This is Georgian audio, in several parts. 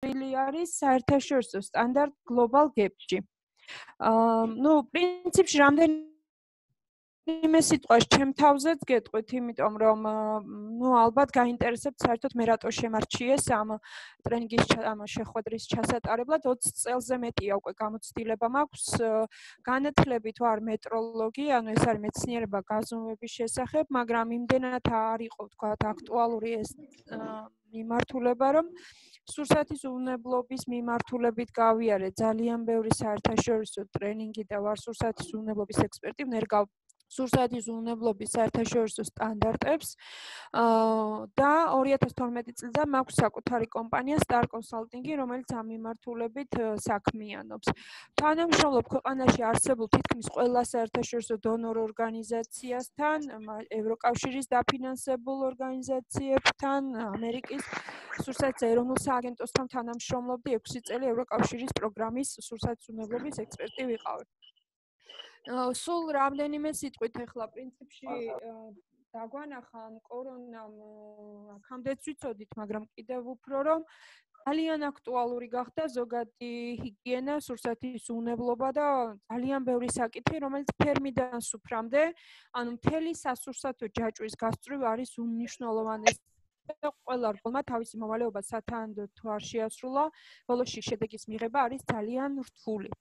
არის საერთაშორისო სტანდარტ Global Gap-ში. პრინციპში რამდენიმე სიტყვას ჩემ თავზეც გეტყვით, იმიტომ რომ ალბათ გაინტერესებთ საერთოდ მე რატო შემარჩიეს ამ ტრენინგის შეხვედრის ჩასატარებლად 20 წელზე მეტია უკვე გამოცდილება მაქვს განათლებით ვარ მეტროლოგი, ანუ ეს არის მეცნიერება გაზომვების შესახებ, მაგრამ იმდენად არ იყო ვთქვათ აქტუალური ეს მიმართულება, რომ სურსათის უვნებლობის მიმართულებით გავიარე ძალიან ბევრი საერთაშორისო ტრენინგი და ვარ სურსათის უვნებლობის ექსპერტი, ვნერგავ სურსათის უვნებლობის საერთაშორისო სტანდარტებს და 2012 წლიდან მაქვს საკუთარი კომპანია Star Consulting, რომელიც ამ მიმართულებით საქმიანობს. თანამშრომლობ ქვეყანაში არსებულ თითქმის ყველა საერთაშორისო დონორ ორგანიზაციასთან, ევროკავშირის დაფინანსებულ ორგანიზაციებთან, ამერიკის სურსათის ეროვნულ სააგენტოსთან თანამშრომლობდი 6 წელი ევროკავშირის პროგრამის სურსათის უვნებლობის ექსპერტი ვიყავი. სულ რამდენიმე სიტყვით ახლა პრინციპში დაგვანახა კორონამ აქამდეც ვიცოდით, მაგრამ კიდევ უფრო რომ ძალიან აქტუალური გახდა ზოგადი ჰიგიენა, სურსათის უვნებლობა და ძალიან ბევრი საკითხი, რომელიც ფერმიდან სუფრამდე, ანუ მთელი სასურსათო ჯაჭვის გასწვრივ არის უმნიშვნელოვანესი. ყველა რგოლმა თავისი მოვალეობა სათანადოდ თუ არ შეასრულა, ბოლოში შედეგის მიღება არის ძალიან რთული.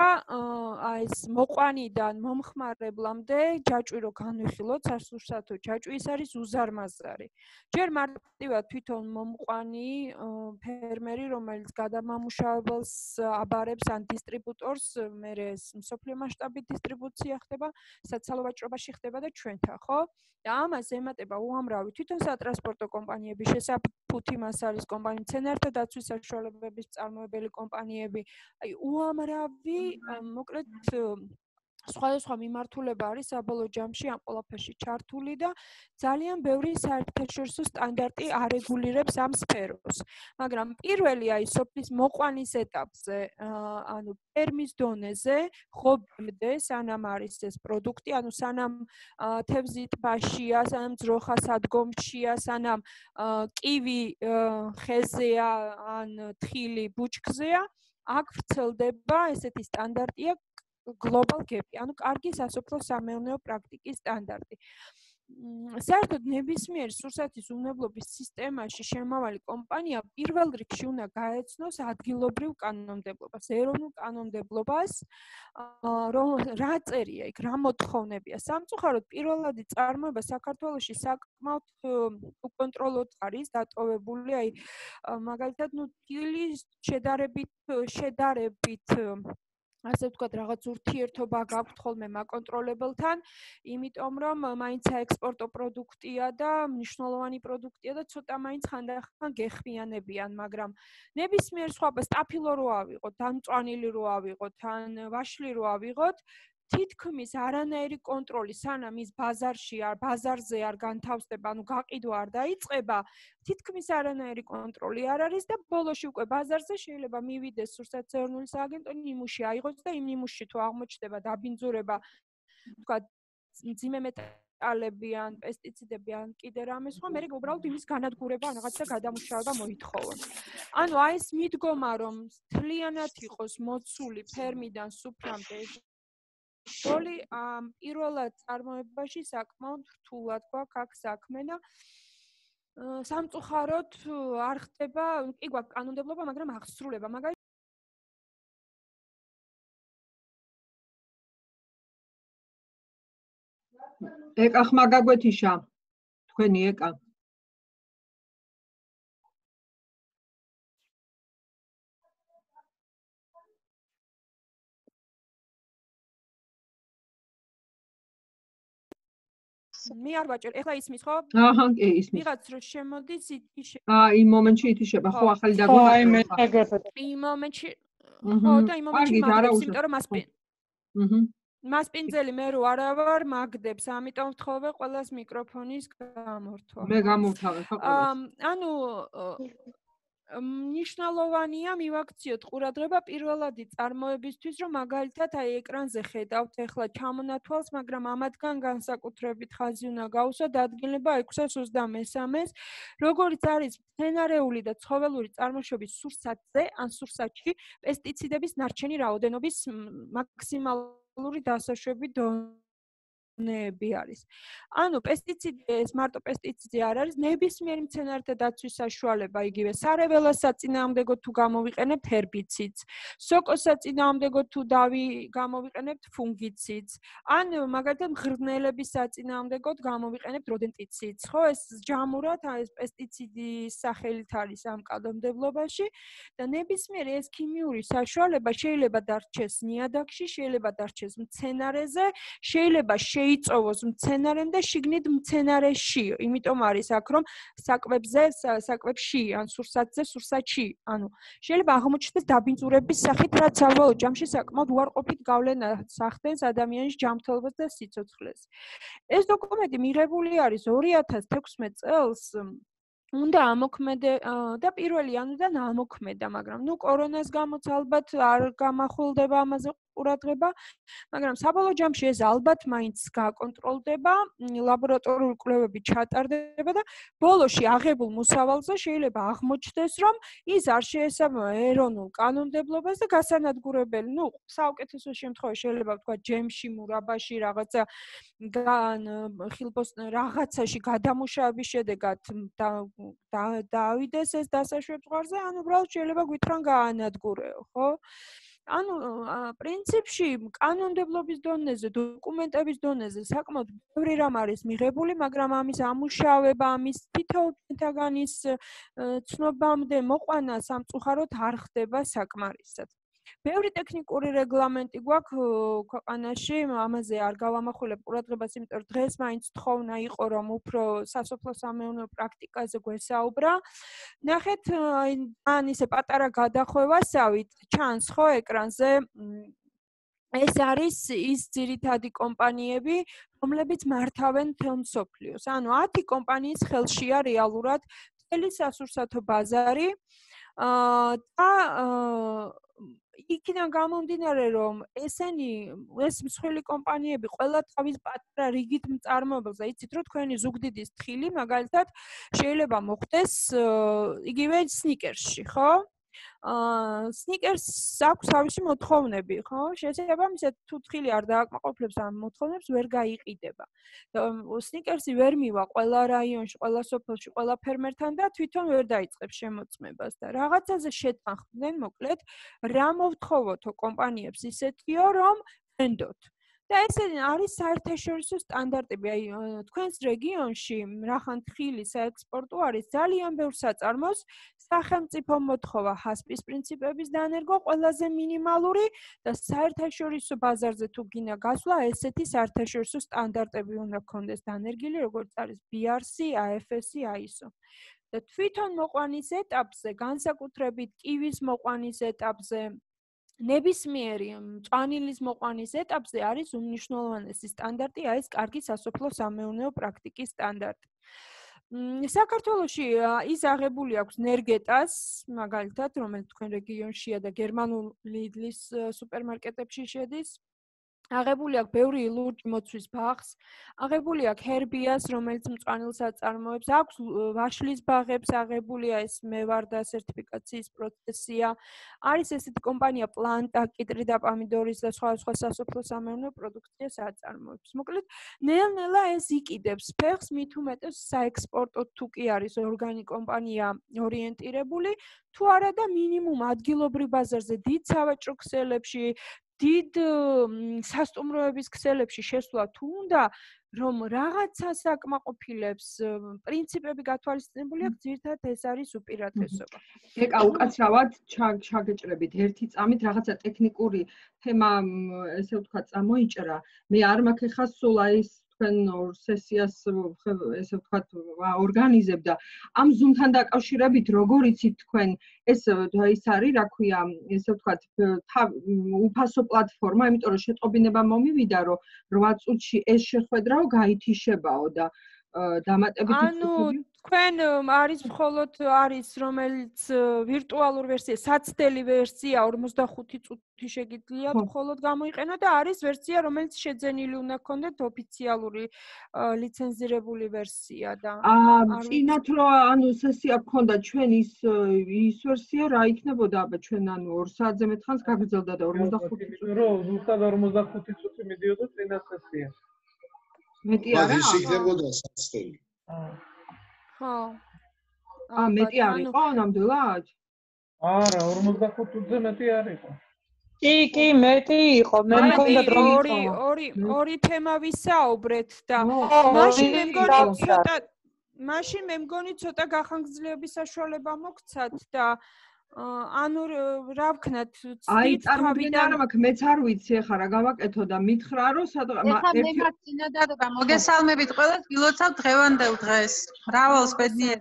ეს მოყვანიდან მომხმარებლამდე ჯაჭვი რო განვიხილოთ, სასურსათო ჯაჭვი ის არის უზარმაზარი. ჯერ მარტივად თვითონ მომყვანი ფერმერი, რომელიც გადამამუშავებელს აბარებს ან დისტრიბუტორს, მერე ეს მსოფლიო მასშტაბით დისტრიბუცია ხდება, საცალო ვაჭრობაში ხდება და ჩვენთან, ხო? და ამას ემატება უამრავი თვითონ სატრანსპორტო კომპანიები, შესაფუთი მასალის კომპანიები, მცენარეთა დაცვის საშუალებების მწარმოებელი კომპანიები, უამრავი მოკლედ სხვადასხვა მიმართულება არის საბოლოო ჯამში ამ ყველაფერში ჩართული და ძალიან ბევრი საერთაშორისო სტანდარტი არეგულირებს ამ სფეროს. მაგრამ პირველი სოფლის მოყვანის ეტაპზე, ანუ ფერმის დონეზე, ხობამდე, სანამ არის ეს პროდუქტი, ანუ სანამ თევზი ტბაშია, სანამ ძროხა სადგომშია, სანამ კივი ხეზეა, ან თხილი ბუჩქზეა, აქ ვრცელდება ესეთი სტანდარტია Global Gap-ი, ანუ კარგი სასოფლო-სამეურნეო პრაქტიკის სტანდარტი. საერთოდ ნებისმიერ სურსათის უვნებლობის სისტემაში შემავალი კომპანია პირველ რიგში უნდა გაეცნოს ადგილობრივ კანონმდებლობას, ეროვნულ კანონმდებლობას, რა წერია იქ, რა მოთხოვნებია. სამწუხაროდ პირველადი წარმოება საქართველოში საკმაოდ უკონტროლოდ არის დატოვებული, მაგალითად, თილის შედარებით ასე ვთქვათ, რაღაც ურთიერთობა გაქვთ ხოლმე მაკონტროლებელთან, იმიტომ რომ მაინც საექსპორტო პროდუქტია და მნიშვნელოვანი პროდუქტია და ცოტა მაინც ხანდახან გეხმიანებიან, მაგრამ ნებისმიერ სხვა სტაფილო რო ავიღოთ, ან მწვანილი რო ავიღოთ, ან ვაშლი რო ავიღოთ, თითქმის არანაირი კონტროლი სანამ ის ბაზარზე არ განთავსდება, ანუ გაყიდვა არ დაიწყება, თითქმის არანაირი კონტროლი არ არის და ბოლოში უკვე ბაზარზე შეიძლება მივიდეს სურსათის ეროვნული სააგენტო, ნიმუში აიღოს და იმ ნიმუშში თუ აღმოჩნდება დაბინძურება, თქვა მძიმე მეტალები ან პესტიციდები ან კიდე რამე სხვა, მე უბრალოდ იმის განადგურება ან რაღაცა გადამუშავება მოითხოვონ. ანუ ეს მიდგომა რომ მთლიანად იყოს მოცული ფერმიდან სუფრამდე როლი პირველად წარმოებაში საკმაოდ რთულად გვაქვს აქ საქმე და სამწუხაროდ არ ხდება, კი გვაქვს კანონმდებლობა, მაგრამ აღსრულება. ეკა ხმა გაგვეთიშა, თქვენი ეკა. მე არ ვაჭერ, ეხლა ისმის ხო? აჰა, კი, ისმის. ვიღაც რო შემოდის, ითიშება. იმ მომენტში ითიშება, ხო, ახალი დაგვეყარა. აი მე ეგრეთ. იმ მომენტში ხო, და იმ მომენტში მაგდებს, იმიტომ რომ მასპინძელი მე რო არა ვარ, მაგდებს, ამიტომ ვთხოვე ყველას მიკროფონის გამორთვა. მე გამოვთავე ხო ყველას. ანუ მნიშვნელოვანია მივაქციოთ ყურადღება პირველადი წარმოებისთვის, რომ მაგალითად აი ეკრანზე ხედავთ ახლა ჩამონათვალს, მაგრამ ამათგან განსაკუთრებით ხაზი უნდა გაუსვათ დადგენილება 623-ს, როგორც არის მცენარეული და ცხოველური წარმოშობის სურსათზე ან სურსათში პესტიციდების ნარჩენი რაოდენობის მაქსიმალური დასაშვები ნეები არის. ანუ პესტიციდი მარტო პესტიციდი არ არის, ნებისმიერი მცენარეთა დაცვის საშუალება, იგივე სარეველას საწინააღმდეგო თუ გამოვიყენებთ ჰერბიციდს, სოკოს საწინააღმდეგო თუ გამოვიყენებთ ფუნგიციდს, ან მაგალითად მღრღნელების საწინააღმდეგოდ გამოვიყენებთ როდენტიციდს, ხო, ეს ჯამურად ეს პესტიციდის სახელით არის ამ კანონმდებლობაში და ნებისმიერი ეს ქიმიური საშუალება შეიძლება დარჩეს ნიადაგში, შეიძლება დარჩეს მცენარეზე, შეიძლება იწოვოს მცენარემ და შიგნით მცენარეში, იმიტომ არის აქ რომ საკვებში ან სურსათზე, სურსათში, ანუ შეიძლება აღმოჩნდეს დაბინძურების სახით, რაც საბოლოო ჯამში საკმაოდ უარყოფით გავლენა ახდენს ადამიანის ჯანმრთელობას და სიცოცხლეს. ეს დოკუმენტი მიღებული არის 2016 წელს. უნდა ამოქმედე და 1 იანვრიდან ამოქმედა, მაგრამ კორონას გამოც ალბათ არ გამახვილდება ამაზე ყურადღება, მაგრამ საბოლოო ჯამში ეს ალბათ მაინც გაკონტროლდება, ლაბორატორიული კვლევები ჩატარდება და ბოლოში აღებულ მოსავალზე შეიძლება აღმოჩნდეს, რომ ის არ შეესაბამება ეროვნულ კანონმდებლობას და გასანადგურებელი, საუკეთესო შემთხვევაში შეიძლება ვთქვა ჯემში, მურაბაში, რაღაცა რაღაცაში გადამუშავების შედეგად დავიდეს ეს დასაშვებ ზღვარზე, ან უბრალოდ შეიძლება გვითხრან გაანადგურეო, ხო? ანუ პრინციპში კანონმდებლობის დონეზე, დოკუმენტების დონეზე საკმაოდ ბევრი რამ არის მიღებული, მაგრამ ამის ამუშავება, ამის თითოეულთაგანის ცნობამდე მოყვანა სამწუხაროდ არ ხდება საკმარისად. ბევრი ტექნიკური რეგლამენტი გვაქვს ქვეყანაში, ამაზე არ გავამახვილებ ყურადღებას, იმიტომ რომ დღეს მაინც თხოვნა იყო, რომ უფრო სასოფლო-სამეურნეო პრაქტიკაზე გვესაუბრა. ნახეთ, ან ისე პატარა გადახვევასავით ჩანს ხო ეკრანზე ეს არის ის ძირითადი კომპანიები, რომლებიც მართავენ მთელ მსოფლიოს. ანუ 10 კომპანიის ხელშია რეალურად მთელი სასურსათო ბაზარი და იქიდან გამომდინარე, რომ ეს მსხვილი კომპანიები ყველა თავის პატარა რიგით მწარმოებელს, იცით რომ თქვენი ზუგდიდის თხილი, მაგალითად, შეიძლება მოხდეს იგივე სნიკერსში, ხო? სნიკერსს აქვს თავისი მოთხოვნები, ხო? შესაბამისად, თუ თხილი არ დააკმაყოფილებს ამ მოთხოვნებს, ვერ გაიყიდება. სნიკერსი ვერ მივა ყველა რაიონში, ყველა სოფელში, ყველა ფერმერთან და თვითონ ვერ დაიწყებს შემოწმებას და რაღაცაზე შეთანხმდნენ, მოკლედ, რა მოვთხოვოთო კომპანიებს ისეთიო, რომ ვენდოთ. და ეს არის საერთაშორისო სტანდარტები, აი თქვენს რეგიონში რახან თხილი საექსპორტო არის ძალიან ბევრ საწარმოს სახელმწიფო მოთხოვა ჰასპის პრინციპების დანერგვა ყველაზე მინიმალური და საერთაშორისო ბაზარზე თუ გინდა გასვლა, ესეთი საერთაშორისო სტანდარტები უნდა გქონდეს დანერგილი, როგორც არის BRC, AFS, ISO. და თვითონ მოყვანის ეტაპზე, განსაკუთრებით კივის მოყვანის ეტაპზე, ნებისმიერი მწვანილის მოყვანის ეტაპზე არის უმნიშვნელოვანესი სტანდარტი, ეს კარგი სასოფლო-სამეურნეო პრაქტიკის სტანდარტი. საქართველოში ის აღებული აქვს ნერგეტას, მაგალითად, რომელიც თქვენ რეგიონშია და გერმანულ ლიდლის სუპერმარკეტებში შედის. აღებული აქვს ბევრი ლურჯი მოცვის ბაღს, აღებული აქვს ჰერბიას, რომელიც მწვანილს აწარმოებს, აქვს ვაშლის ბაღებს, აღებულია ეს მევარდა სერტიფიკაციის პროცესია. არის ესეთი კომპანია პლანტა, კიტრი და პომიდორის და სხვა სასოფლო-სამეურნეო პროდუქციას აწარმოებს. მოკლედ, ნელ-ნელა ეს იყიდებს ფეხს, მით უმეტეს საექსპორტო თუ კი არის ორგანი კომპანია ორიენტირებული, თუ არა და მინიმუმ ადგილობრივ ბაზარზე, დიდ სავაჭრო ქსელებში, დიდ სასტუმროების ქსელებში შესვლა თუ უნდა, რომ რაღაცას აკმაყოფილებს, პრინციპები გათვალისწინებული აქვს, ძირითადად ეს არის უპირატესობა. ეკა უკაცრავად ჩაგეჭრებით ერთი წამით რაღაცა ტექნიკური თემა, ესე ვთქვათ, წამოიჭრა. მე არ მაქვს ხა სულ ის თქვენ ორ სესიას ესე ვთქვათ ორგანიზებ და ამ ზუმთან დაკავშირებით როგორ იცით თქვენ ეს ის არის რა ქვია ესე ვთქვათ უფასო პლატფორმა, იმიტომ რომ შეტყობინება მომივიდა რომ 8 წუთში ეს შეხვედრაო გაითიშებაო და დამატებით ანუ თქვენ არის მხოლოდ არის რომელიც ვირტუალურ ვერსია, საცდელი ვერსია 45 წუთი შეგიძლიათ მხოლოდ გამოიყენო და არის ვერსია რომელიც შეძენილი უნდა გქონდეთ ოფიციალური ლიცენზირებული ვერსია და წინათ რო ანუ სესია გქონდა ჩვენ ის ვერსია რა იქნებოდა აბა ჩვენ ანუ 2 საათზე მეტხანს გაგრძელდა და 45 წუთი რო ზუსტად 45 წუთი მიდიოდა წინა სესია. მეტი არა? ის იქნებოდა საცდელი. ხო. მეტი არ იყო ნამდვილად? არა, 45 წუთზე მეტი არ იყო. კი, მეტი იყო. მე მგონდა რომ ორი თემა ვისაუბრეთ და მაშინ მე მგონი ცოტა გახანგრძლივების საშუალება მოგცათ და ანუ რა ვქნათ აი წარმოგიდგენია რომ აქ მეც არ ვიცი ახლა რა გავაკეთო და მითხრა რომ ერთი მოგესალმებით მოგესალმებით ყველას გილოცავ დღევანდელ დღეს მრავალს ბედნიერ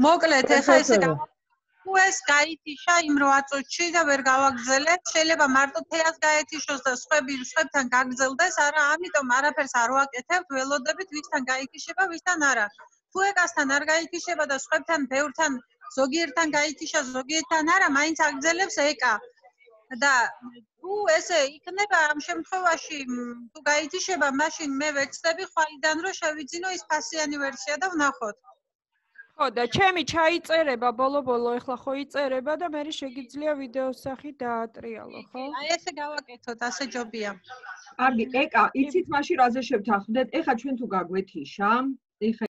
მოკლედ ახლა ესე თუ ეს გაითიშა იმ 8 წუთში და ვერ გავაგრძელებ შეიძლება მარტო თეას გაეთიშოს და სხვებთან გაგრძელდეს არა ამიტომ არაფერს არ ვაკეთებ ველოდებით ვისთან გაითიშება ვისთან არა თუ ეკასთან არ გაითიშება და სხვებთან ბევრთან ზოგიერთთან გაითიშა ზოგიერთთან არა მაინც აგრძელებს ეკა და თუ ესე იქნება ამ შემთხვევაში თუ გაითიშება მაშინ მე ვეცდები ხვალიდან რომ შევიძინო ის ფასიანი ვერსია და ვნახოთ ხო და ჩემი ჩაიწერება ბოლო ეხლა ხო იწერება და მე შეგიძლია ვიდეოს სახით დაატრიალო ხო აი ესე გავაკეთოთ ასე ჯობია კარგი ეკა იცით მაშინ რაზე შევთანხმდეთ ეხლა ჩვენ თუ გაგვეთიშა ეხა